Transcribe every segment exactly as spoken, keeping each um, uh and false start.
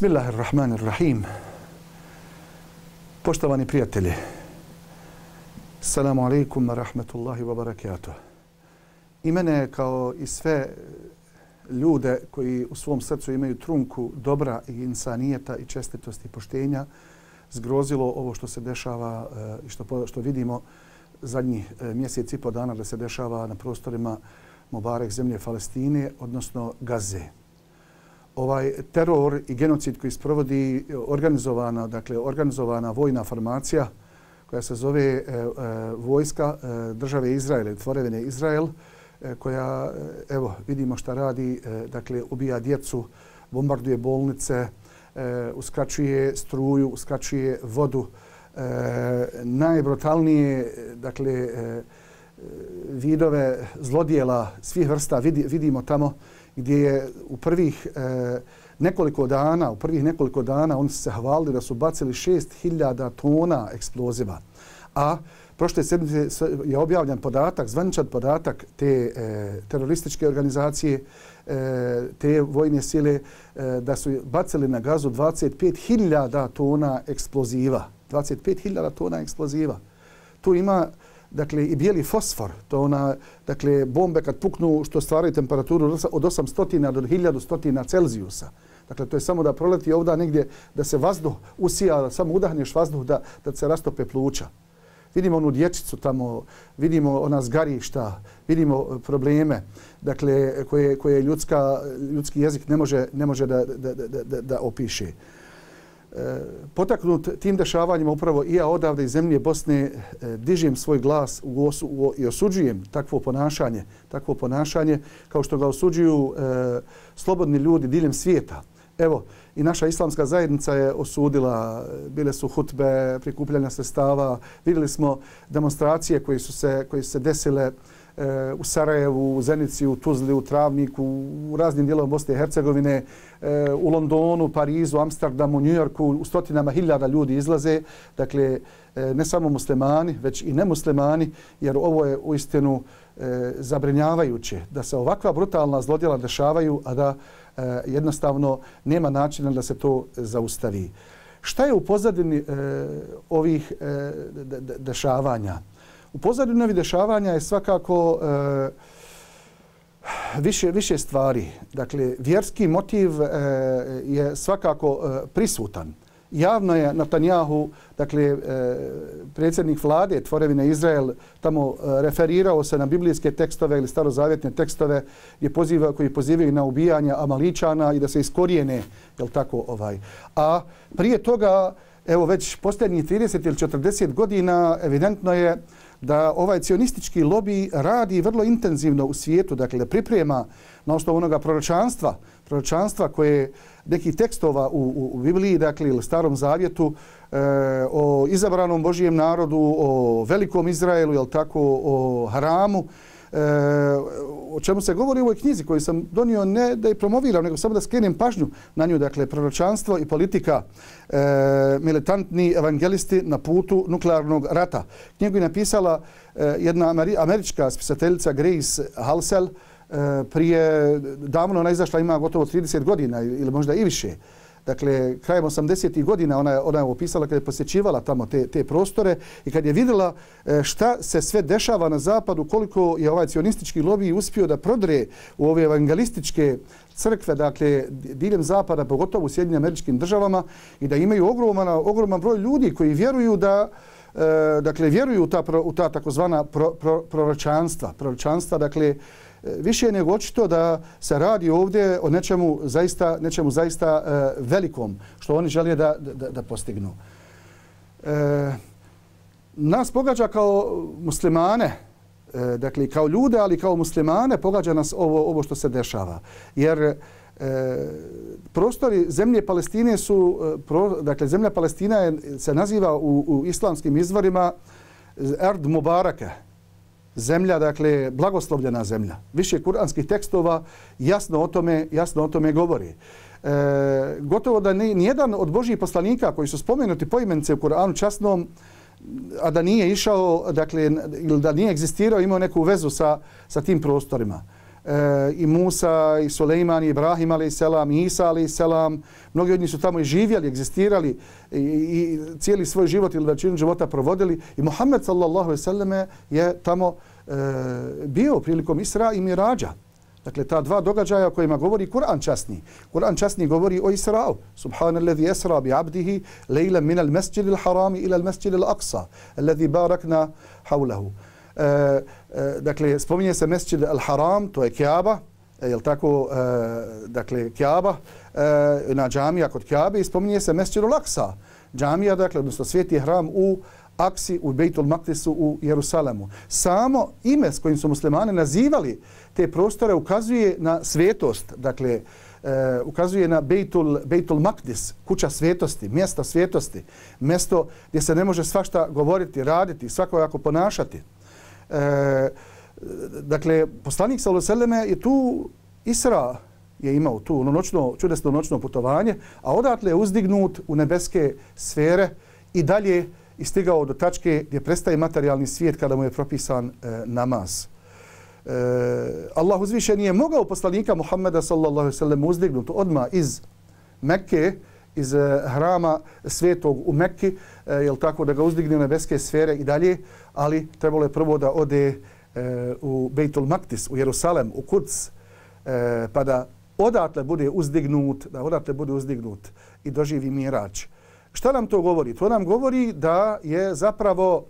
Bismillahirrahmanirrahim. Poštovani prijatelji, assalamu alaikum wa rahmatullahi wa barakatuh. I mene kao i sve ljude koji u svom srcu imaju trunku dobra i insanijeta i čestitosti i poštenja zgrozilo ovo što se dešava i što, što vidimo zadnjih mjesec i po dana da se dešava na prostorima Mubarek zemlje Palestine, odnosno Gaze. Ovaj teror i genocid koji sprovodi organizovana, dakle organizovana vojna formacija koja se zove e, e, vojska e, države Izrael, tvorevine Izrael, e, koja, evo, vidimo šta radi, e, dakle, ubija djecu, bombarduje bolnice, e, uskraćuje struju, uskraćuje vodu, e, najbrutalnije, dakle, e, vidove zlodjela svih vrsta vidi, vidimo tamo gdje je u prvih e, nekoliko dana, u prvih nekoliko dana oni su se hvalili da su bacili šest hiljada tona eksploziva. A prošle sedmice je objavljen podatak, zvaničan podatak te e, terorističke organizacije, e, te vojne sile, e, da su bacili na Gazu dvadeset pet hiljada tona eksploziva. dvadeset pet hiljada tona eksploziva. Tu ima dakle i bijeli fosfor, to ona, dakle bombe kad puknu što stvaraju temperaturu od osamsto do hiljadu stotina Celzijusa. Dakle to je samo da proleti ovdje negdje da se vazduh usija, samo udahneš vazduh da da se rastope pluća. Vidimo onu dječicu tamo, vidimo ona zgarišta, vidimo probleme, dakle koje koje ljudska ljudski jezik ne može ne može da da da da, da opiše. Potaknut tim dešavanjima upravo i ja odavde iz zemlje Bosne dižem svoj glas u osu, u, i osuđujem takvo ponašanje, takvo ponašanje kao što ga osuđuju e, slobodni ljudi diljem svijeta. Evo, i naša islamska zajednica je osudila, bile su hutbe, prikupljanja sredstava, vidjeli smo demonstracije koje su se, koje su se desile u Sarajevu, u Zenici, u Tuzli, u Travniku, u raznim dijelovima Bosne i Hercegovine, u Londonu, Parizu, Amsterdamu, Njujorku, u stotinama hiljada ljudi izlaze. Dakle, ne samo muslimani, već i nemuslimani, jer ovo je uistinu zabrinjavajuće da se ovakva brutalna zlodjela dešavaju, a da jednostavno nema načina da se to zaustavi. Šta je u pozadini ovih dešavanja? U pozadini ovih dešavanja je svakako e, više, više stvari. Dakle, vjerski motiv e, je svakako e, prisutan. Javno je Netanjahu, dakle, e, predsjednik vlade tvorevine Izrael, tamo e, referirao se na biblijske tekstove ili starozavjetne tekstove je poziva, koji pozivaju na ubijanje Amaličana i da se iskorijene, jel tako, ovaj. A prije toga, evo već posljednjih trideset ili četrdeset godina, evidentno je da ovaj cionistički lobij radi vrlo intenzivno u svijetu, dakle da priprema na osnovu onoga proročanstva, proročanstva koje nekih tekstova u, u, u Bibliji, dakle ili Starom Zavjetu, e, o izabranom Božijem narodu, o velikom Izraelu, jel tako, o haramu, e, o čemu se govori u ovoj knjizi koju sam donio ne da je promoviram, nego samo da skrenem pažnju na nju, dakle proročanstvo i politika, e, militantni evangelisti na putu nuklearnog rata. Knjigu je napisala e, jedna američka spisateljica Grace Halsell, e, prije, davno ona izašla, ima gotovo trideset godina ili možda i više. Dakle, krajem osamdesetih godina ona je, ona je opisala kad je posjećivala tamo te, te prostore i kad je vidjela šta se sve dešava na zapadu, koliko je ovaj cionistički lobij uspio da prodre u ove evangelističke crkve, dakle, diljem zapada, pogotovo u Sjedinjenim Američkim Državama i da imaju ogroman, ogroman broj ljudi koji vjeruju da e, dakle, vjeruju u ta, u ta takozvana pro, pro, proročanstva. Proročanstva, dakle, više je nego očito da se radi ovdje o nečemu zaista, nečemu zaista e, velikom što oni žele da, da, da postignu. E, nas pogađa kao muslimane, e, dakle kao ljude, ali kao muslimane pogađa nas ovo, ovo što se dešava. Jer e, prostori zemlje Palestine su, pro, dakle zemlja Palestina je, se naziva u, u islamskim izvorima Erd Mubarake. Zemlja, dakle, blagoslovljena zemlja. Više kuranskih tekstova jasno o tome, jasno o tome govori. E, gotovo da ni, nijedan od Božjih poslanika koji su spomenuti poimence u Kur'anu časnom, a da nije išao, dakle, ili da nije egzistirao, imao neku vezu sa, sa tim prostorima. e, i Musa, i Sulejman, i Ibrahim, alaih selam, i Isa, alaih selam. Mnogi od njih su tamo i živjeli, egzistirali i, i cijeli svoj život ili većinu života provodili. I Muhammed sallallahu alejhi ve selleme je tamo e, bio prilikom Isra i Mirađa. Dakle, ta dva događaja o kojima govori Kur'an časni. Kur'an časni govori o Isra'u. Subhanalladhi esra bi abdihi lejlan min al-masjid al-harami ila al-masjid al-aqsa, alladhi barakna hawlahu. E, e, dakle, spominje se Masjid al-Haram, to je Kjaba, e, jel tako, e, dakle, Kjaba, e, na džamija kod Kjabe, i spominje se Masjid al-Aqsa, džamija, dakle, odnosno sveti hram u Aksi, u Bejtul Maktisu u Jerusalemu. Samo ime s kojim su muslimani nazivali te prostore ukazuje na svetost, dakle, e, ukazuje na Bejtul, Bejtul Maktis, kuća svetosti, mjesto svetosti, mjesto gdje se ne može svašta govoriti, raditi, svakojako ponašati. E, dakle, poslanik sallallahu alejhi ve selleme je tu Isra je imao tu noćno, čudesno noćno putovanje, a odatle je uzdignut u nebeske sfere i dalje i stigao do tačke gdje prestaje materijalni svijet kada mu je propisan e, namaz. E, Allah uzvišen je mogao poslanika Muhammeda sallallahu alejhi ve sellem uzdignut odmah iz Mekke, iz e, hrama svetog u Mekki, e, jel tako, da ga uzdigne u nebeske sfere i dalje, ali trebalo je prvo da ode e, u Bejtul Maktis, u Jerusalem, u Kuds, e, pa da odatle bude uzdignut, da odatle bude uzdignut i doživi mirač. Šta nam to govori? To nam govori da je zapravo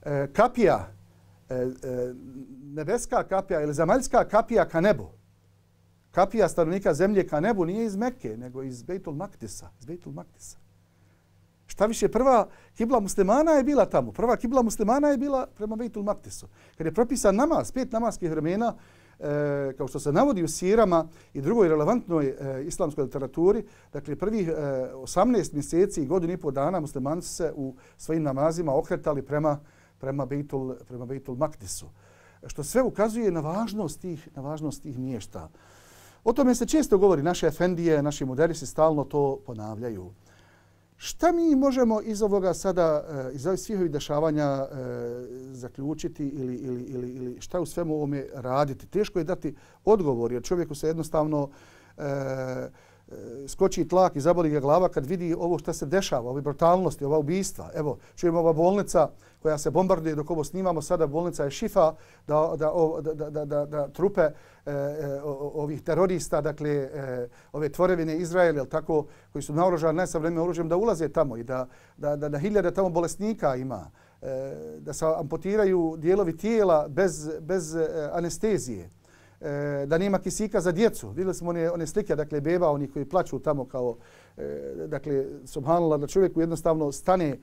e, kapija, e, e, nebeska kapija ili zemaljska kapija ka nebu. Kapija stanovnika zemlje ka nebu nije iz Mekke, nego iz Bejtul Maktisa. Iz Bejtul Maktisa. Šta više, prva kibla muslimana je bila tamo. Prva kibla muslimana je bila prema Bejtul Maktisu. Kad je propisan namaz, pet namaskih vremena, E, kao što se navodi u sirama i drugoj relevantnoj e, islamskoj literaturi, dakle prvih e, osamnaest mjeseci i godinu i pol dana muslimani su se u svojim namazima okretali prema prema Bejtul prema Bejtul Maktisu. Što sve ukazuje na važnost tih na važnost tih mjesta. O tome se često govori, naše efendije, naši muderisi stalno to ponavljaju. Šta mi možemo iz ovoga sada, iz ovih svih ovih dešavanja zaključiti ili, ili, ili, ili šta u svemu ovome raditi? Teško je dati odgovor jer čovjeku se jednostavno e, skoči tlak i zaboli ga glava kad vidi ovo šta se dešava, ove brutalnosti, ova ubijstva. Evo, čujemo ova bolnica koja se bombarduje dok ovo snimamo sada, bolnica je Šifa, da, da, da, da, da, da trupe e, ovih terorista, dakle, e, ove tvorevine Izrael, jel tako, koji su naoružani najsavremenijim oružjem, da ulaze tamo i da, da, da, da hiljade tamo bolesnika ima, e, da se amputiraju dijelovi tijela bez, bez e, anestezije, da nema kisika za djecu. Vidjeli smo one, one slike, dakle, beba, oni koji plaču tamo kao, dakle, subhanallah, da čovjeku jednostavno stane,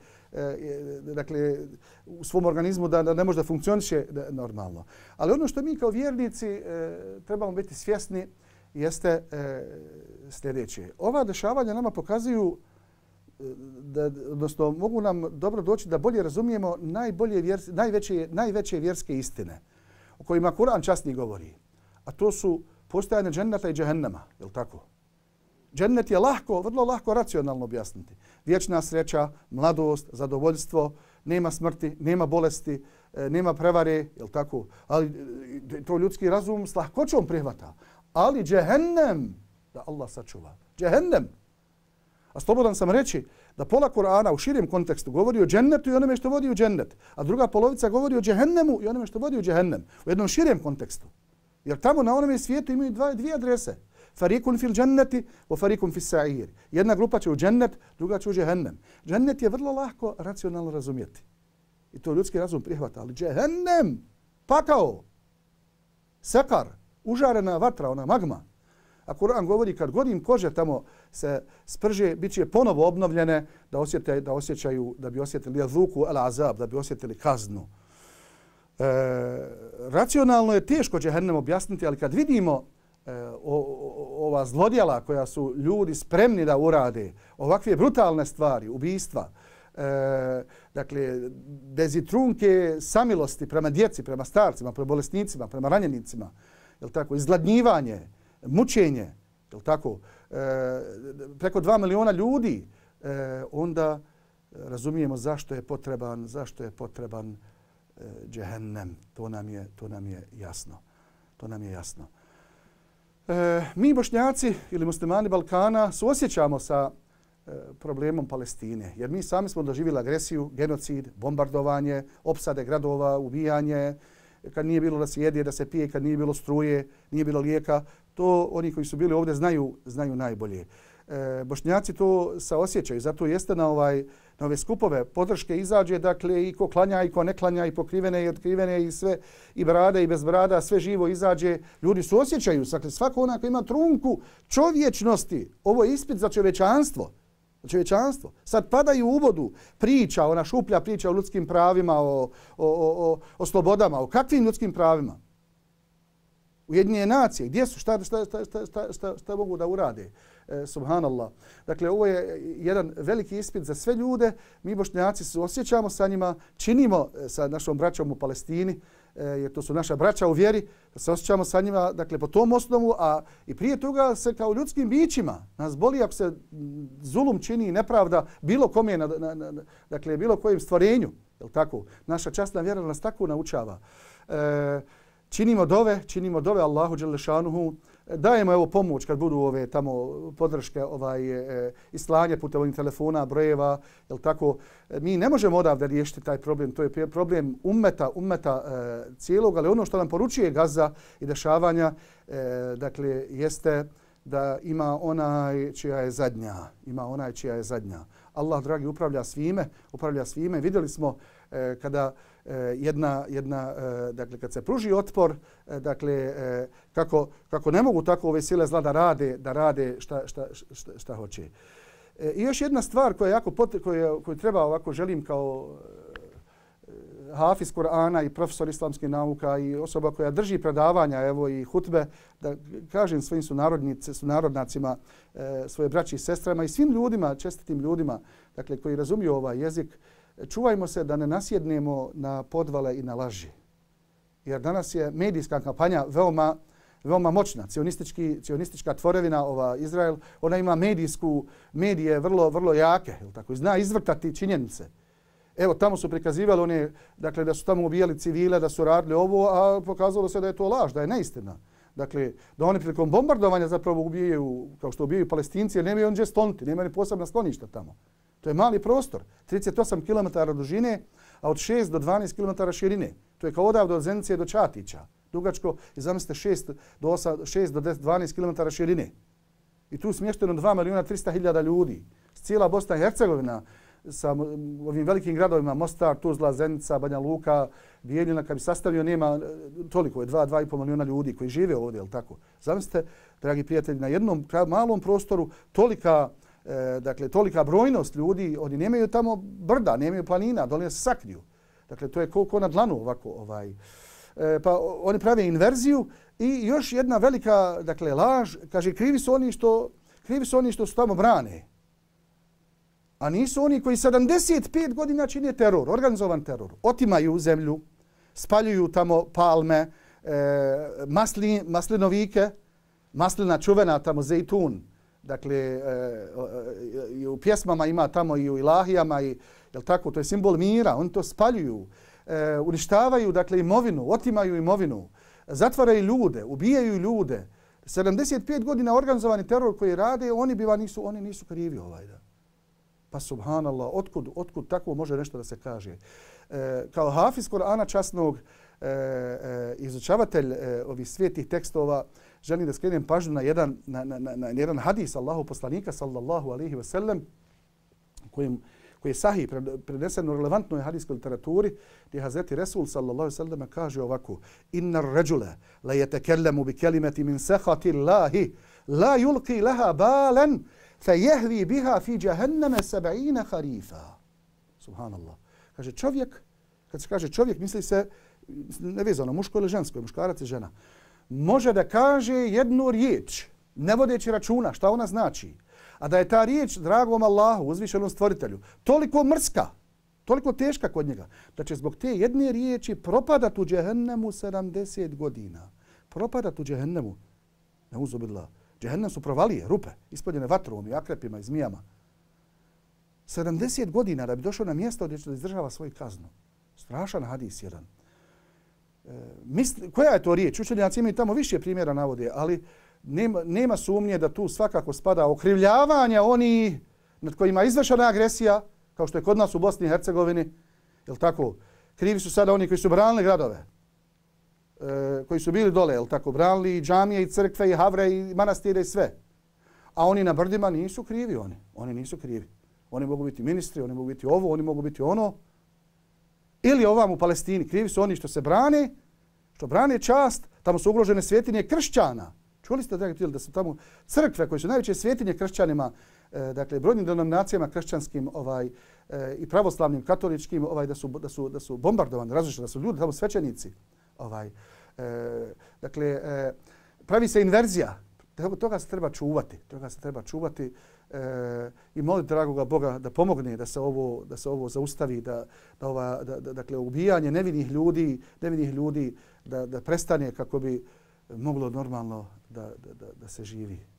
dakle, u svom organizmu da, da ne može da funkcioniše normalno. Ali ono što mi kao vjernici trebamo biti svjesni jeste sljedeće. Ova dešavanja nama pokazuju da, odnosno, mogu nam dobro doći da bolje razumijemo najbolje vjers, najveće, najveće vjerske istine o kojima Kur'an časni govori. A to su postojanje dženneta i džehennema, je li tako? Džennet je lahko, vrlo lahko racionalno objasniti. Vječna sreća, mladost, zadovoljstvo, nema smrti, nema bolesti, nema prevare, je li tako? Ali to ljudski razum s lahkoćom prihvata. Ali džehennem, da Allah sačuva, džehennem. A slobodan sam reći da pola Kur'ana u širem kontekstu govori o džennetu i onome što vodi u džennet, a druga polovica govori o džehennemu i onome što vodi u džehennem. U jednom širem kontekstu. Jer tamo na onome svijetu imaju dva, dvije adrese. Farikun fil dženneti wa farikun fil sa'ir. Jedna grupa će u džennet, druga će u džehennem. Džennet je vrlo lahko racionalno razumjeti. I to ljudski razum prihvata. Ali džehennem, pakao, sekar, užarena vatra, ona magma. A Kur'an govori kad god im kože tamo se sprže, bit će ponovo obnovljene da, osjete, da osjećaju, da bi osjetili jazuku al azab, da bi osjetili kaznu. E, racionalno je teško džehennem objasniti, ali kad vidimo e, o, o, ova zlodjela koja su ljudi spremni da urade, ovakve brutalne stvari, ubijstva, e, dakle, bez i trunke samilosti prema djeci, prema starcima, prema bolesnicima, prema ranjenicima, jel tako, izgladnjivanje, mučenje, jel tako, e, preko dva miliona ljudi, e, onda razumijemo zašto je potreban, zašto je potreban džehennem. To nam je, to nam je jasno. To nam je jasno. E, mi Bošnjaci ili muslimani Balkana suosjećamo sa e, problemom Palestine, jer mi sami smo doživjeli agresiju, genocid, bombardovanje, opsade gradova, ubijanje, kad nije bilo da se jede, da se pije, kad nije bilo struje, nije bilo lijeka. To oni koji su bili ovdje znaju, znaju najbolje. E, Bošnjaci to saosjećaju, zato jeste na, ovaj, na ove skupove podrške izađe, dakle i ko klanja i ko ne klanja, i pokrivene i otkrivene i sve, i brada i bez brada, sve živo izađe. Ljudi su osjećaju, dakle svako onaj koji ima trunku čovječnosti, ovo je ispit za čovječanstvo. Za čovječanstvo. Sad padaju u vodu priča, ona šuplja priča o ljudskim pravima, o, o, o, o slobodama, o kakvim ljudskim pravima. Ujedinjene nacije, gdje su, šta, šta, šta, šta, šta, šta, šta mogu da urade? E, subhanallah. Dakle, ovo je jedan veliki ispit za sve ljude. Mi Bošnjaci se osjećamo sa njima, činimo sa našom braćom u Palestini, e, jer to su naša braća u vjeri, da se osjećamo sa njima, dakle, po tom osnovu, a i prije toga se kao ljudskim bićima. Nas boli ako se zulum čini nepravda bilo kome, na, na, na, dakle, bilo kojem stvorenju. Jel tako? Naša časna vjera nas tako naučava. E, Činimo dove, činimo dove Allahu dželle šanuhu. Dajemo evo pomoć kad budu ove tamo podrške ovaj e, i slanje putem ovih telefona, brojeva, jel tako? Mi ne možemo odavde riješiti taj problem, to je problem ummeta, ummeta e, cijelog, ali ono što nam poručuje Gaza i dešavanja, e, dakle jeste da ima onaj čija je zadnja, ima onaj čija je zadnja. Allah dragi upravlja svime, upravlja svime. Vidjeli smo e, kada e, jedna jedna e, dakle kad se pruži otpor, e, dakle e, kako kako ne mogu tako ove sile zla da rade, da rade šta šta šta, šta hoće. E, I još jedna stvar koja jako koja koju treba ovako želim kao hafiz Kur'ana i profesor islamskih nauka i osoba koja drži predavanja, evo i hutbe, da kažem svojim sunarodnacima, e, svoje braći i sestrama i svim ljudima, čestitim ljudima, dakle koji razumiju ovaj jezik, čuvajmo se da ne nasjednemo na podvale i na laži. Jer danas je medijska kampanja veoma veoma moćna, cionistički, cionistička tvorevina ova Izrael, ona ima medijsku, medije vrlo vrlo jake, je li tako, zna izvrtati činjenice. Evo, tamo su prikazivali one, dakle, da su tamo ubijali civile, da su radili ovo, a pokazalo se da je to laž, da je neistina. Dakle, da oni prilikom bombardovanja zapravo ubijaju, kao što ubijaju Palestinci, jer nemaju on gdje skloniti, nemaju ni posebna skloništa tamo. To je mali prostor, trideset osam kilometara dužine, a od šest do dvanaest kilometara širine. To je kao odavde od Zenice do Čatića. Dugačko, i zamislite, šest do dvanaest kilometara širine. I tu smješteno dva milijuna trista hiljada ljudi. Cijela Bosna i Hercegovina, sa ovim velikim gradovima Mostar, Tuzla, Zenica, Banja Luka, Bijeljina, kad bi sastavio, nema toliko, je dva, dva i pol milijuna ljudi koji žive ovdje, jel tako? Zamislite, dragi prijatelji, na jednom malom prostoru tolika, e, dakle, tolika brojnost ljudi, oni nemaju tamo brda, nemaju planina, dole se sakriju. Dakle, to je ko, ko na dlanu ovako. Ovaj. E, pa oni prave inverziju i još jedna velika, dakle, laž, kaže, krivi su oni što, krivi su oni što su tamo brane. A nisu oni koji sedamdeset pet godina čine teror, organizovan teror. Otimaju zemlju, spaljuju tamo palme, e, masli, maslinovike, maslina čuvena tamo, zejtun. Dakle, e, i u pjesmama ima tamo i u ilahijama, i, jel tako, to je simbol mira. Oni to spaljuju, e, uništavaju, dakle, imovinu, otimaju imovinu, zatvaraju ljude, ubijaju ljude. sedamdeset pet godina organizovani teror koji rade, oni biva nisu, oni nisu krivi ovaj da. Pa subhanallah, otkud, otkud tako može nešto da se kaže? E, kao hafiz Kur'ana časnog, e, e, izučavatelj e, ovih svetih tekstova, želim da skrenem pažnju na jedan, na, na, na, na jedan hadis Allahu poslanika sallallahu alaihi wa sallam, kojim, koji je sahih, prenesen u relevantnoj hadijskoj literaturi, gdje Hazreti Resul sallallahu alaihi wa sallam kaže ovako: Inna ređule la jetekellemu bi kelimeti min sehati Allahi, la yulqi laha balen, فَيَهْوِي بِهَا فِي جَهَنَّمَ سَبْعِينَ خَرِيفًا. Subhanallah. Kaže čovjek, kad se kaže čovjek, misli se nevezano, muško ili žensko, muškarac i žena, može da kaže jednu riječ, ne vodeći računa šta ona znači, a da je ta riječ dragom Allahu, uzvišenom stvoritelju, toliko mrska, toliko teška kod njega, da će zbog te jedne riječi propadat u džehennemu sedamdeset godina. Propadat u džehennemu. Neuzubillah. Džehennem su provalije, rupe, ispoljene vatrom i akrepima i zmijama. sedamdeset godina da bi došao na mjesto gdje će da izdržava svoju kaznu. Strašan hadis jedan. E, misli, koja je to riječ? Učenjaci imaju tamo više primjera navode, ali nema, nema sumnje da tu svakako spada okrivljavanja oni nad kojima je izvršena agresija, kao što je kod nas u Bosni i Hercegovini. Jel tako? Krivi su sada oni koji su branili gradove, e, koji su bili dole, jel tako? Branili i džamije, i crkve, i havre, i manastire, i sve. A oni na brdima nisu krivi, oni. Oni nisu krivi. Oni mogu biti ministri, oni mogu biti ovo, oni mogu biti ono. Ili ovam u Palestini. Krivi su oni što se brane, što brane čast. Tamo su ugrožene svjetinje kršćana. Čuli ste da su tamo crkve koje su najveće svjetinje kršćanima, e, dakle brojnim denominacijama kršćanskim ovaj e, i pravoslavnim, katoličkim, ovaj da su da su da su bombardovani, različite, da su ljudi tamo svećenici. Ovaj e, dakle e, pravi se inverzija. Toga se treba čuvati. Toga se treba čuvati e, i moliti dragoga Boga da pomogne da se ovo da se ovo zaustavi, da da ova da, da, dakle ubijanje nevinih ljudi, nevinih ljudi da da prestane kako bi moglo normalno da da da, da se živi.